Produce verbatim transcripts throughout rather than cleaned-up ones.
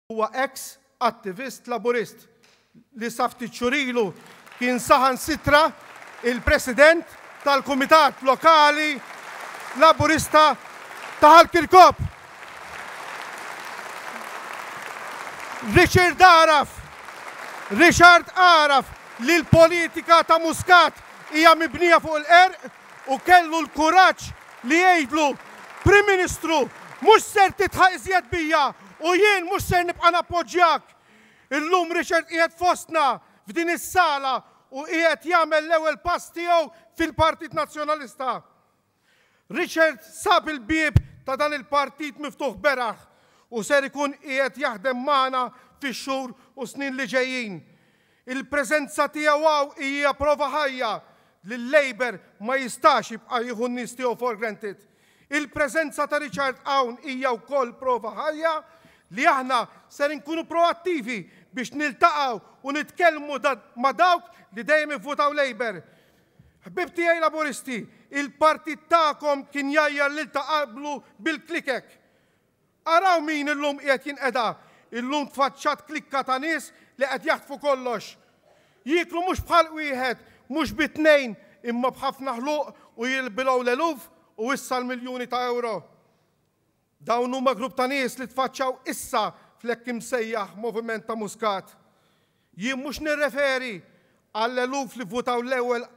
Huwa ex attivist Laburist li sa ftit xhur ilu kien saħansitra il-president tal-Kumitat Lokali Laburista ta' Ħal Kirkop. Richard għaraf, Richard għaraf li l-politika ta' Muscat hija mibnija fuq il-qerq u kellu l-kuraġġ li jgħidlu: "Prim Ministru, mhux ser tidħaq iżjed bija u jien mhux ser nibqa' nappoġġjak." Illum Richard qiegħed fostna f'din is-sala u qiegħed jagħmel l-ewwel pass tiegħu fil-Partit Nazzjonalista. Richard sab il-bieb ta' dan il-partit miftuħ beraħ u ser ikun qiegħed jaħdem magħna fix-xhur u snin li ġejjin. Il-preżenza tiegħu hawn hija prova ħajja li l-Labour ma jistax jibqa' jieħu n-nies tiegħu for granted. Il-preżenza ta' Richard hawn hija wkoll prova ħajja li aħna ser inkunu proattivi biex niltaqgħu u nitkellmu ma' dawk li dejjem ivvutaw Labour. Ħbib tiegħi Laburisti, il-partit tagħkom kien jgħajjar lil ta' qablu bil-klikek. Araw min illum qiegħed jinqeda, illum tfaċċat klikka ta' nies li qed jaħtfu kollox. Jieklu mhux bħal wieħed, mhux bi tnejn, imma b'ħafna ħluq u jilbilgħu l-eluf u issa l-miljuni ta' euro. Dawn huma grupp ta' nies li tfaċċaw issa fl-hekk imsejjaħ moviment ta' Muscat. Jien mhux nirreferi għall-eluf li votaw l-ewwel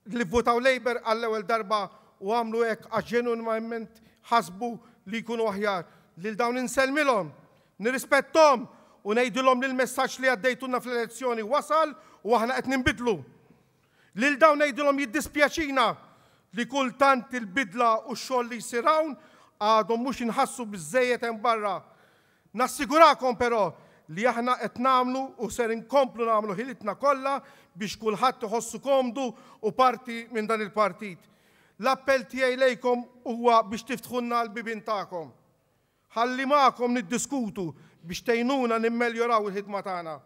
li votaw Labour għall-ewwel darba u għamlu hekk għax ġenwinament ħasbu li jkunu aħjar. Lil dawn insellmilhom, nirrispettom u ngħidilhom li l-messaġġ li għaddejtulna fl-elezzjoni wasal u aħna qed ninbidlu. Lil dawn ngħidilhom jiddispjaċina li kultant il-bidla u x-xogħol li jsir hawn għadhom mhux inħassu biżejjed hemm barra. Nassigurakom però li aħna qed nagħmlu u ser inkomplu nagħmlu ħilitna kollha biex kulħadd iħossu komdu u parti minn dan il-partit. L-appell tiegħi lejkom huwa biex tiftħulna l-bibien tagħkom. Ħalli magħkom niddiskutu biex tgħinuna nimmeljoraw il-ħidma tagħna.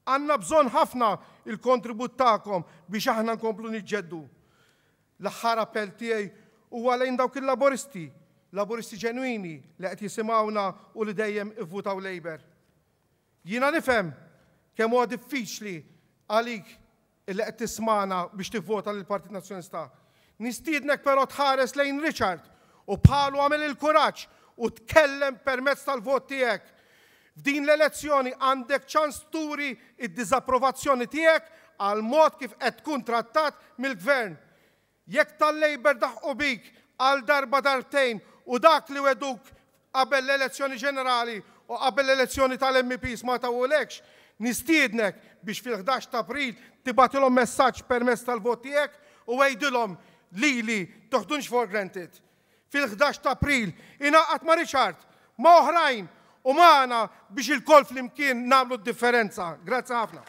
Għandna bżonn ħafna il-kontribut tagħkom biex aħna nkomplu niġġeddu. L-aħħar appell tiegħi huwa lejn dawk il-Laburisti, Laburisti ġenwini li qed jisimgħuna u li dejjem ivvutaw Labour. Jiena nifhem kemm huwa diffiċli għalik illi qed tismana biex tivvota lill-Partit Nazzjonalista. Nistiednek però tħares lejn Richard u bħalu għamel il-kuraġġ u tkellem permezz tal-vot tiegħek. F'din l-elezzjoni għandek ċans turi id-diżapprovazzjoni tiegħek għal mod kif qed tkun trattat mill-gvern. Jekk tal-Labour daħqu bik għal darba, darbtejn, u dak li wegħduk qabel l-elezzjoni ġenerali u qabel l-elezzjoni tal-M Ps ma tawulekx, nistiednek biex fil-ħdax ta' April tibgħatilhom messaġġ permezz tal-vot tiegħek u għidilhom lili toħdunx for granted. Fil-ħdax ta' April ingħaqad ma' Richard, ma' oħrajn u magħna biex ilkoll flimkien nagħmlu d-differenza. Grazzi ħafna.